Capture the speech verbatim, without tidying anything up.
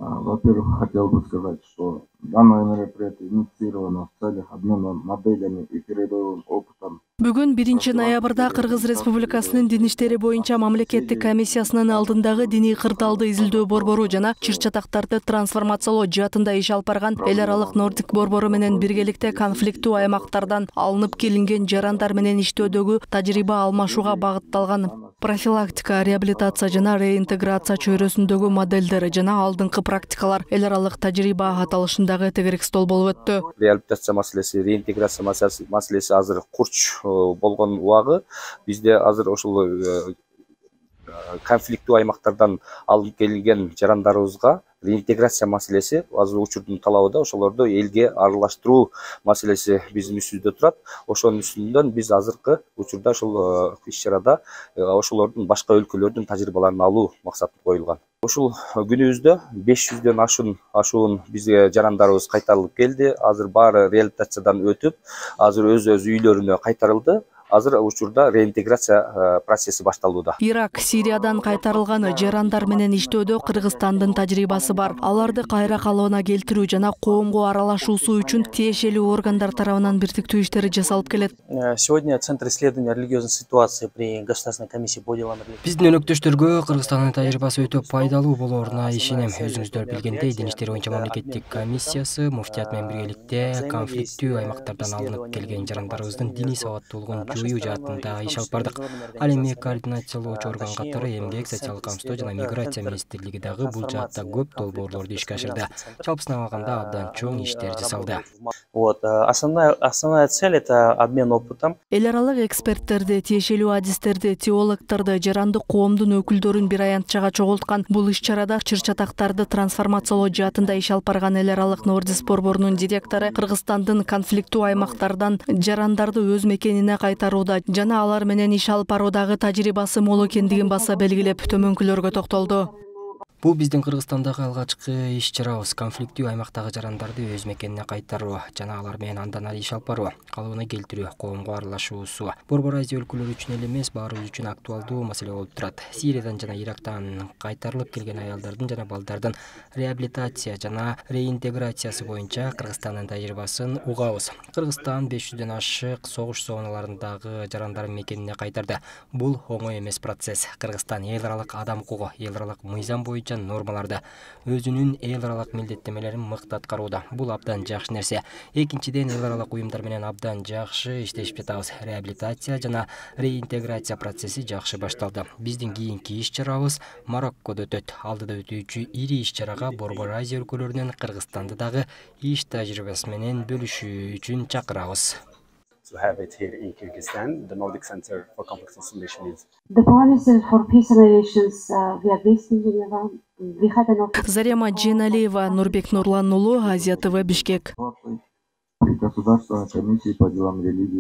Во-первых, хотел бы сказать, что данное мероприятие инициировано в целях обмена моделями и передовым опытом. Бүгүн биринчи ноябрда Кыргыз Республикасынын Дин иштери боюнча мамлекеттик комиссиясынын алдындагы диний кырдаалды изилдөө борбору жана чыр-чатактарды трансформациялоо жаатында иш алып барган эл аралык Нордик борбору менен биргеликте конфликттүү аймактардан алынып келинген жарандар менен иштөөдөгү тажрыйба алмашууга багытталган профилактика, реабилитация жана реинтеграция чөйрөсүндөгү модельдер жана алдыңкы практикалар эл аралык тажрыйба аталышындагы тегерек стол болуп өттү. Реабилитация маселеси, реинтеграция маселеси азыр курч болгон убагы бизде азыр ошол конфликттүү аймактардан алынып келинген жарандарыбызга реинтеграция маселеси азыр учурдун талабыда, ошолорду элге аралаштыруу маселеси биздин үстүбүздө турат. Ошонун үстүнөн биз азыркы учурда ошол иш-чарада ошолордун башка өлкөлөрдүн тажрыйбаларын алуу максаты коюлган. Ушул күнүбүздө беш жүздөн ашуун ашуун бизге жарандарыбыз кайтарылып келди. Азыр баары реабилитациядан өтүп, азыр өз өз үйлөрүнө кайтарылды. Азыр учурда реинтеграция процесси башталууда. Ирак, Сириядан кайтарылган жарандар менен иштөөдө Кыргызстандын тажрыйбасы бар. Аларды кайра калыбына келтирүү жана коомго аралашуусу үчүн тиешелүү органдар тарабынан биртиктүү иштери жасалып келет. Сегодня Центр исследования религиозной ситуации при Государственной комиссии по делам религии. Биздин өнөктөштөргө Кыргызстандын тажрыйбасы өтө пайдалуу болоруна ишенем. Өзүңүздөр билгендей, Дин иштери боюнча мамлекеттик комиссиясы муфтият менен биргеликте конфликттүү аймактардан алынып келген жарандарыбыздын диний сабаттуулугун жоюу жаатында иш алып бардык. Ал эми координациялоочу орган катары эмгек, социалдык камсыздоо жана миграция министрлиги дагы бул жаатта көп долбоорлорду ишке ашырды. Жалпысына алганда абдан чоң иштер жасалды. Вот основная основная цель это обмен опытом. Эл аралык эксперттерди, тиешелүү адистерди, теологторду, жарандык коомдун өкүлдөрүн бир аянтчага чогулткан бул иш-чарада чыр-чатактарды трансформациялоо жаатында иш алып барган эл аралык Нордис борборунун директору Кыргызстандын конфликттүү аймактардан жарандарды өз мекенине кайтарууда жана алар менен иш алып баруудагы тажрыйбасы мол экендигин баса белгилеп, төмөнкүлөргө токтолду. Бул биздин Кыргызстандагы алгачкы иш-чарабыз. Конфликттүү аймактагы жарандарды өз мекенине кайтаруу жана алар менен андан ары иш алып баруу, калыбына келтирүү, коомго аралашуусу Борбор Азия өлкөлөрү үчүн эле эмес, баарыбыз үчүн актуалдуу маселе болуп турат. Сириядан жана Ирактан кайтарылып келген аялдардын жана балдардын реабилитация жана реинтеграциясы боюнча Кыргызстандын тажрыйбасын угабыз. Кыргызстан беш жүздөн ашык согуш зоналарындагы жарандарын мекенине кайтарды. Бул оңой эмес процесс. Кыргызстан эл аралык адам укугу, эл аралык мыйзам боюнча нормаларда өзүнүн эл аралык милдеттемелерин мыкты аткарууда. Бул абдан жакшы нерсе. Экинчиден, эл аралык уюмдар менен абдан жакшы иштешип жатабыз. Реабилитация жана реинтеграция процесси жакшы башталды. Биздин кийинки иш-чарабыз Мароккодо өтөт. Алдыда өтүүчү ири иш-чарага Борбор Азия өлкөлөрүнөн Кыргызстанды дагы иш тажрыйбасы менен бөлүшүү үчүн чакырабыз. To have it here in Kyrgyzstan, the Nordic Center for Conflict Resolution is. The policy for peace and relations uh, we are based in Geneva. We had an office. Зарема Дженалиева, Нурбек Нурлан уулу, Азия ТВ, Бишкек. При Государственной комиссии по делам религии.